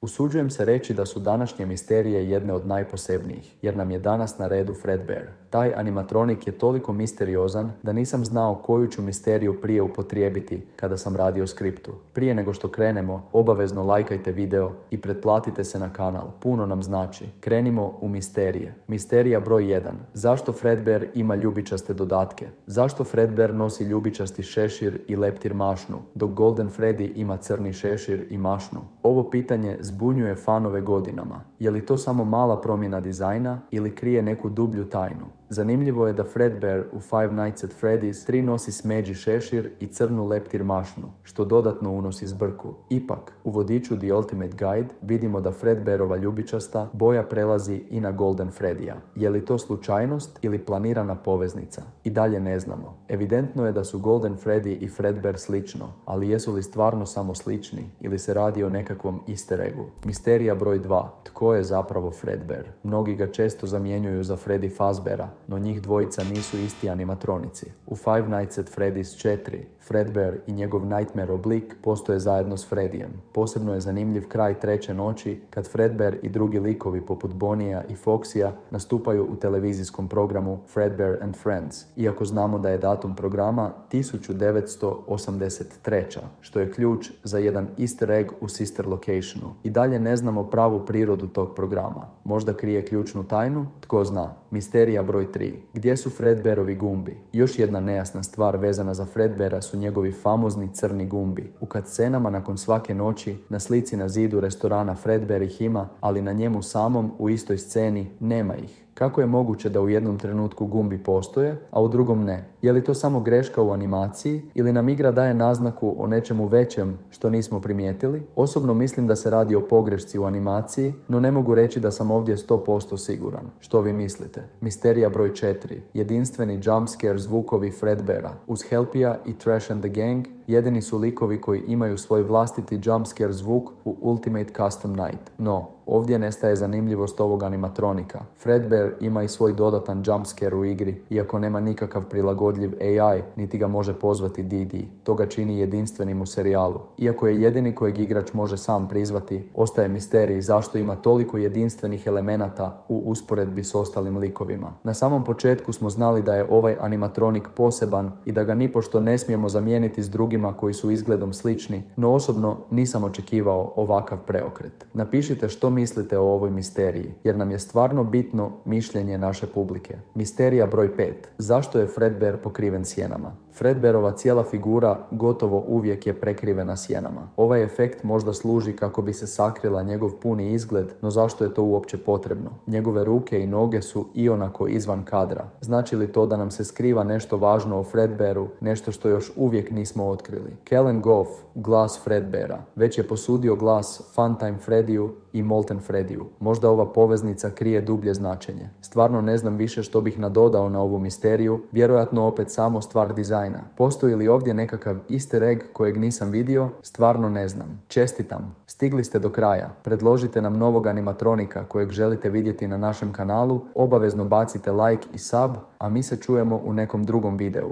Usuđujem se reći da su današnje misterije jedne od najposebnijih, jer nam je danas na redu Fredbear. Taj animatronik je toliko misteriozan da nisam znao koju ću misteriju prije upotrijebiti kada sam radio skriptu. Prije nego što krenemo, obavezno lajkajte video i pretplatite se na kanal, puno nam znači. Krenimo u misterije. Misterija broj 1. Zašto Fredbear ima ljubičaste dodatke? Zašto Fredbear nosi ljubičasti šešir i leptir mašnu, dok Golden Freddy ima crni šešir i mašnu? Ovo pitanje zbunjuje fanove godinama. Je li to samo mala promjena dizajna ili krije neku dublju tajnu? Zanimljivo je da Fredbear u Five Nights at Freddy's 3 nosi smeđi šešir i crnu leptir mašnu, što dodatno unosi zbrku. Ipak, u vodiču The Ultimate Guide vidimo da Fredbearova ljubičasta boja prelazi i na Golden Freddyja. Je li to slučajnost ili planirana poveznica? I dalje ne znamo. Evidentno je da su Golden Freddy i Fredbear slično, ali jesu li stvarno samo slični ili se radi o nekakvom easter eggu? Misterija broj 2. Tko je zapravo Fredbear? Mnogi ga često zamjenjuju za Freddy Fazbeara, no njih dvojica nisu isti animatronici. U Five Nights at Freddy's 4, Fredbear i njegov Nightmare oblik postoje zajedno s Freddyjem. Posebno je zanimljiv kraj treće noći kad Fredbear i drugi likovi poput Bonija i Foxija nastupaju u televizijskom programu Fredbear and Friends, iako znamo da je datum programa 1983, što je ključ za jedan easter egg u sister locationu. I dalje ne znamo pravu prirodu tog programa. Možda krije ključnu tajnu? Tko zna. Misterija broj 3. Gdje su Fredbearovi gumbi? Još jedna nejasna stvar vezana za Fredbeara su njegovi famozni crni gumbi. U cutscenama nakon svake noći na slici na zidu restorana Fredbear ih ima, ali na njemu samom u istoj sceni nema ih. Kako je moguće da u jednom trenutku gumbi postoje, a u drugom ne? Je li to samo greška u animaciji ili nam igra daje naznaku o nečemu većem što nismo primijetili? Osobno mislim da se radi o pogrešci u animaciji, no ne mogu reći da sam ovdje 100% siguran. Što vi mislite? Misterija broj 4. Jedinstveni jumpscare zvukovi Fredbeara. Uz Helpija i Trash and the Gang jedini su likovi koji imaju svoj vlastiti jumpscare zvuk u Ultimate Custom Night. No, ovdje nestaje zanimljivost ovog animatronika. Fredbear ima i svoj dodatan jumpscare u igri, iako nema nikakav prilagodljiv AI, niti ga može pozvati DD. To ga čini jedinstvenim u serijalu. Iako je jedini kojeg igrač može sam prizvati, ostaje misterij zašto ima toliko jedinstvenih elemenata u usporedbi s ostalim likovima. Na samom početku smo znali da je ovaj animatronik poseban i da ga nipošto ne smijemo zamijeniti s drugima koji su izgledom slični, no osobno nisam očekivao ovakav preokret. Napišite što mislite o ovoj misteriji, jer nam je stvarno bitno mišljenje naše publike. Misterija broj 5. Zašto je Fredbear pokriven sjenama? Fredbearova cijela figura gotovo uvijek je prekrivena sjenama. Ovaj efekt možda služi kako bi se sakrila njegov puni izgled, no zašto je to uopće potrebno? Njegove ruke i noge su ionako izvan kadra. Znači li to da nam se skriva nešto važno o Fredbearu, nešto što još uvijek nismo otkrili? Kellen Goff, glas Fredbeara, već je posudio glas Funtime Freddyu i Molten Freddyu. Možda ova poveznica krije dublje značenje. Stvarno ne znam više što bih nadodao na ovu misteriju, vjerojatno opet samo stvar dizajna. Postoji li ovdje nekakav easter egg kojeg nisam vidio? Stvarno ne znam. Čestitam. Stigli ste do kraja. Predložite nam novog animatronika kojeg želite vidjeti na našem kanalu, obavezno bacite like i sub, a mi se čujemo u nekom drugom videu.